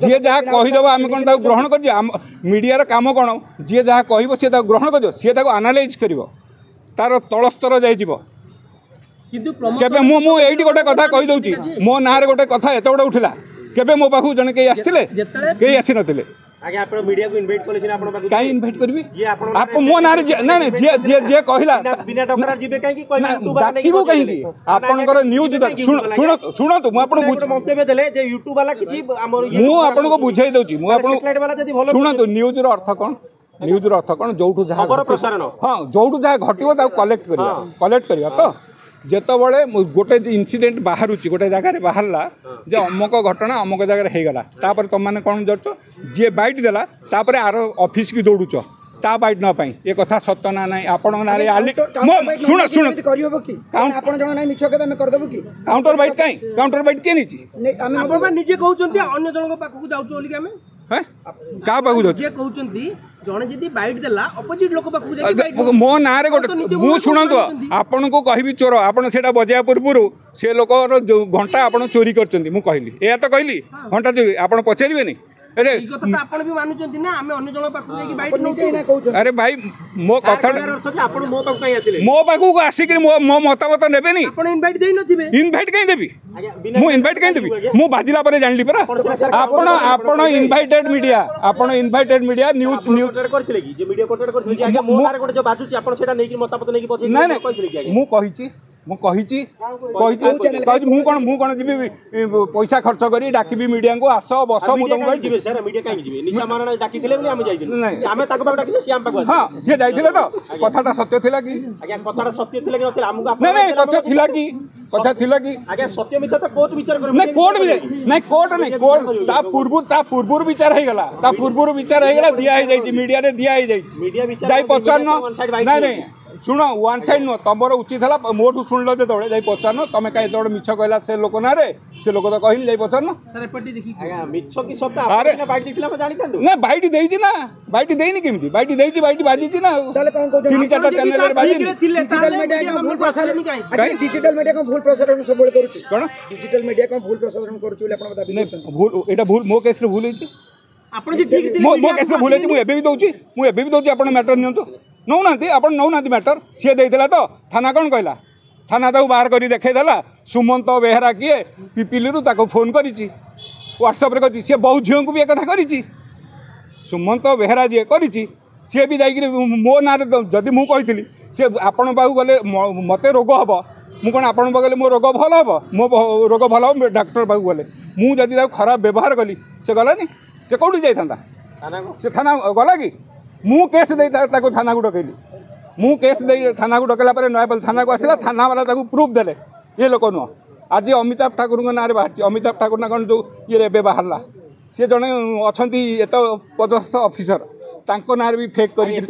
ଯିଏ ଯାହା କହିଦେବ ଆମେ କ'ଣ ତାକୁ ଗ୍ରହଣ କରିଯିବା? ଆମ ମିଡ଼ିଆର କାମ କ'ଣ? ଯିଏ ଯାହା କହିବ ସିଏ ତାକୁ ଗ୍ରହଣ କରିବ, ସିଏ ତାକୁ ଆନାଲାଇଜ୍ କରିବ, ତାର ତଳ ସ୍ତର ଯାଇଯିବ। କିନ୍ତୁ କେବେ ମୁଁ ଏଇଠି ଗୋଟେ କଥା କହିଦେଉଛି, ମୋ ନାଁରେ ଗୋଟେ କଥା ଏତେ ଗୋଟେ ଉଠିଲା, କେବେ ମୋ ପାଖକୁ ଜଣେ କେହି ଆସିଥିଲେ? କେହି ଆସିନଥିଲେ। ଆଜ୍ଞା, ଆପଣ ମିଡ଼ିଆକୁ ଇନଭାଇଟ୍ କଲେ ସିନା ଆପଣ ପାଖକୁ। କାହିଁ ଇନଭାଇଟ୍ କରିବି? ଯିଏ ଆପଣ ଆପଣ ମୋ ନାଁରେ, ନାଇଁ ନାଇଁ, ଯିଏ ଯିଏ ଯିଏ କହିଲା ବିନା ଡକରା ଯିବେ କାହିଁକି? ଡାକିବୁ କାହିଁକି? ଆପଣଙ୍କର ନ୍ୟୁଜ୍ ଶୁଣ, ଶୁଣନ୍ତୁ, ମୁଁ ଆପଣଙ୍କୁ ମନ୍ତବ୍ୟ ଦେଲେ ଯେ ୟୁଟ୍ୟୁବ ବାଲା କିଛି ଆମର, ମୁଁ ଆପଣଙ୍କୁ ବୁଝେଇ ଦେଉଛି, ମୁଁ ଆପଣଙ୍କୁ ବାଲା ଯଦି ଭଲ। ଶୁଣନ୍ତୁ, ନ୍ୟୁଜ୍ର ଅର୍ଥ କ'ଣ? ନ୍ୟୁଜ୍ର ଅର୍ଥ କ'ଣ? ଯୋଉଠୁ ଯାହା ପ୍ରସାରଣ, ହଁ, ଯୋଉଠୁ ଯାହା ଘଟିବ ତାକୁ କଲେକ୍ଟ କରିବା, କଲେକ୍ଟ କରିବା। ତ ଯେତେବେଳେ ଗୋଟେ ଇନସିଡେଣ୍ଟ ବାହାରୁଛି, ଗୋଟେ ଜାଗାରେ ବାହାରିଲା ଯେ ଅମକ ଘଟଣା ଅମକ ଜାଗାରେ ହେଇଗଲା, ତାପରେ ତୁମମାନେ କ'ଣ କରୁଛ? ଯିଏ ବାଇଟ୍ ଦେଲା, ତାପରେ ଆର ଅଫିସକି ଦୌଡ଼ୁଛ ତା ବାଇଟ୍ ନେବା ପାଇଁ। ଏ କଥା ସତ ନା ନାହିଁ? ଆପଣଙ୍କ ନାଁରେ ଆଲି, ଶୁଣ ଶୁଣ, କରିହବ କି? ଆପଣ ଜଣ ନାହିଁ ମିଛ କେବେ ଆମେ କରିଦେବୁ କି? କାଉଣ୍ଟର ବାଇଟ୍ କାହିଁ? କାଉଣ୍ଟର ବାଇଟ୍ କିଏ ନେଇଛି? ଆପଣ ନିଜେ କହୁଛନ୍ତି ଅନ୍ୟ ଜଣଙ୍କ ପାଖକୁ ଯାଉଛୁ ବୋଲିକି। ଆମେ କାହା ପାଖକୁ ଯାଉଛୁ? ଯିଏ କହୁଛନ୍ତି ଜଣେ ଯଦି ବାଇଟ୍ ଦେଲା, ଅପୋଜିଟ୍ ଲୋକ ପାଖକୁ ଯାଇକି ମୋ ନାଁରେ ଗୋଟେ, ମୁଁ ଶୁଣନ୍ତୁ, ଆପଣଙ୍କୁ କହିବି ଚୋର, ଆପଣ ସେଇଟା ବଜେଇବା ପୂର୍ବରୁ ସେ ଲୋକର ଯେଉଁ ଘଣ୍ଟା ଆପଣ ଚୋରି କରିଛନ୍ତି, ମୁଁ କହିଲି, ଏଇଆ ତ କହିଲି, ଘଣ୍ଟା ଚୋରି, ଆପଣ ପଚାରିବେନି? ଆପଣ ବି ମାନୁଛନ୍ତି ନା ଆମେ ଅନ୍ୟ ଜଣଙ୍କ ପାଖକୁ ଯାଇକି ବାଇଟ୍ ନେଉଛୁ? ଆରେ ଭାଇ, ମୋ କଥା ଆପଣ ମୋ ପାଖକୁ କାହିଁ ଆସିଲେ? ମୋ ପାଖକୁ ଆସିକିରି ମୋ ମତାମତ ନେବେନି? ଆପଣ ଇନଭାଇଟ୍ ଦେଇନଥିବେ। ଇନଭାଇଟ୍ କାହିଁ ଦେବି ମୁଁ? ଇନଭାଇଟ୍ କାହିଁ ଦେବି ମୁଁ? ବାଜିଲା ପରେ ଜାଣିଲି ପରା। ଆପଣ ଇନଭାଇଟେଡ୍ ମିଡ଼ିଆ, ଆପଣ ଇନଭାଇଟେଡ୍ ମିଡ଼ିଆ, ନ୍ୟୁଜ୍ ନ୍ୟୁଜ୍ କରିଥିଲେ କି? ଯେ ମିଡ଼ିଆ କଣ୍ଟାକ୍ଟ କରିଥିଲେ ଯେ ଆଜ୍ଞା ମୋ ନାଁରେ ଗୋଟେ ଯୋଉ ବାଜୁଛି, ଆପଣ ସେଇଟା ନେଇକି ମତାମତ ନେଇକି ପଛେ ନାଇଁ ନାଇଁ କହିଥିଲେ କି? ମୁଁ କହିଛି, ମୁଁ କହିଛି, କହିଛି, କହିଛି। ମୁଁ କ'ଣ ଯିବି ପଇସା ଖର୍ଚ୍ଚ କରି ଡାକିବି ମିଡ଼ିଆଙ୍କୁ, ଆସ ବସ? ମୁଁ ତମକୁ ଯିବେ ସାର୍, ମିଡ଼ିଆ କାହିଁକି ଯିବେ? ନିଶା ମହାରଣା ଡାକିଥିଲେ ବୋଲି ଆମେ ଯାଇଥିଲୁ। ଆମେ ତାଙ୍କ ପାଖକୁ ଡାକିଲେ, ସିଏ ଆମ ପାଖକୁ। ହଁ, ସିଏ ଯାଇଥିଲେ ତ କଥାଟା ସତ୍ୟ ଥିଲା କି? ଆଜ୍ଞା, କଥାଟା ସତ୍ୟ ଥିଲା କି ନଥିଲା ଆମକୁ? ନାଇଁ ନାଇଁ, ତଥ୍ୟ ଥିଲା କି? କଥା ଥିଲା କି? ଆଜ୍ଞା, ସତ୍ୟ ମିଥ୍ୟା ତ କୋର୍ଟ ବିଚାର କରିବ। ନାଇଁ, କୋର୍ଟ ନାଇଁ, କୋର୍ଟ ନାଇଁ, କୋର୍ଟ ତା ପୂର୍ବରୁ ବିଚାର ହେଇଗଲା, ତା ପୂର୍ବରୁ ବିଚାର ହେଇଗଲା, ଦିଆ ହେଇଯାଇଛି, ମିଡ଼ିଆରେ ଦିଆ ହେଇଯାଇଛି, ଯାଇ ପଚାରୁନ। ନାଇଁ ନାଇଁ, ଶୁଣ, ୱାନ୍ ସାଇଡ୍ ନୁହଁ, ତମର ଉଚିତ ହେଲା ମୋଠୁ ଶୁଣିଲ ଯେତେବେଳେ, ଯାଇ ପଚାରୁନ, ତମେ କାହିଁ ଏତେ ମିଛ କହିଲା ସେ ଲୋକ ନାଁରେ? ସେ ଲୋକ ତ କହିନି, ଯାଇ ପଚାରୁନ। ମିଛ କି ସତ? ଆରେ ବାଇଟ୍ ଦେଇଥିଲେ ଆମେ ଜାଣିଥାନ୍ତୁ ନା। ବାଇଟ୍ ଦେଇଛି ନା? ବାଇଟ୍ ଦେଇନି କେମିତି? ବାଇଟ୍ ଦେଇଛି, ବାଇଟ୍ ବାଜିଛି ନା, ତିନି ଚାରିଟା ଚ୍ୟାନେଲରେ ବାଜିନି। ଡିଜିଟାଲ ମିଡ଼ିଆ କ'ଣ ଭୁଲ ପ୍ରସାରଣ ସବୁବେଳେ କରୁଛି? କ'ଣ? ଡିଜିଟାଲ ମିଡ଼ିଆ କ'ଣ ଭୁଲ ପ୍ରସାରଣ କରୁଛି ବୋଲି ଆପଣ ଦାବି କରୁଛନ୍ତି? ଭୁଲ, ଏଇଟା ଭୁଲ, ମୋ କେସ୍ରେ ଭୁଲ ହେଇଛି। ଆପଣ ଯେ ଠିକ ମୋ କେସ୍ରେ ଭୁଲ ହେଇଛି, ମୁଁ ଏବେ ବି ଦେଉଛି, ମୁଁ ଏବେ ବି ଦେଉଛି। ଆପଣ ମ୍ୟାଟର ନିଅନ୍ତୁ, ନେଉନାହାନ୍ତି, ଆପଣ ନେଉନାହାନ୍ତି ମ୍ୟାଟର। ସିଏ ଦେଇଥିଲା ତ ଥାନା କ'ଣ କହିଲା? ଥାନା ତାକୁ ବାହାର କରି ଦେଖେଇଦେଲା, ସୁମନ୍ତ ବେହେରା କିଏ ପିପିଲିରୁ ତାକୁ ଫୋନ୍ କରିଛି, ହ୍ୱାଟ୍ସଆପ୍ରେ କରିଛି। ସିଏ ବହୁ ଝିଅଙ୍କୁ ବି ଏକଥା କରିଛି। ସୁମନ୍ତ ବେହେରା ଯିଏ କରିଛି, ସିଏ ବି ଯାଇକିରି ମୋ ନାଁରେ, ଯଦି ମୁଁ କହିଥିଲି, ସିଏ ଆପଣଙ୍କ ପାଖକୁ ଗଲେ ମୋତେ ରୋଗ ହେବ, ମୁଁ କ'ଣ ଆପଣଙ୍କ ପାଖକୁ ଗଲେ ମୋ ରୋଗ ଭଲ ହେବ? ମୋ ରୋଗ ଭଲ ହେବ ଡାକ୍ତର ପାଖକୁ ଗଲେ। ମୁଁ ଯଦି ତାକୁ ଖରାପ ବ୍ୟବହାର କଲି, ସେ ଗଲାନି, ସେ କେଉଁଠି ଯାଇଥାନ୍ତା? ସେ ଥାନା ଗଲା କି? ମୁଁ କେସ୍ ଦେଇ ତାକୁ ଥାନାକୁ ଡକେଇଲି। ମୁଁ କେସ୍ ଦେଇ ଥାନାକୁ ଡକେଇଲା ପରେ ନୟାପଲ୍ଲୀ ଥାନାକୁ ଆସିଲା, ଥାନାବାଲା ତାକୁ ପ୍ରୁଫ୍ ଦେଲେ, ଇଏ ଲୋକ ନୁହଁ। ଆଜି ଅମିତାଭ ଠାକୁରଙ୍କ ନାଁରେ ବାହାରିଛି, ଅମିତାଭ ଠାକୁର ନା କ'ଣ ଯେଉଁ ଇଏରେ ଏବେ ବାହାରିଲା, ସିଏ ଜଣେ ଅଛନ୍ତି ଏତେ ପଦସ୍ଥ ଅଫିସର, ତାଙ୍କ ନାଁରେ ବି ଫେକ୍ କରିକି।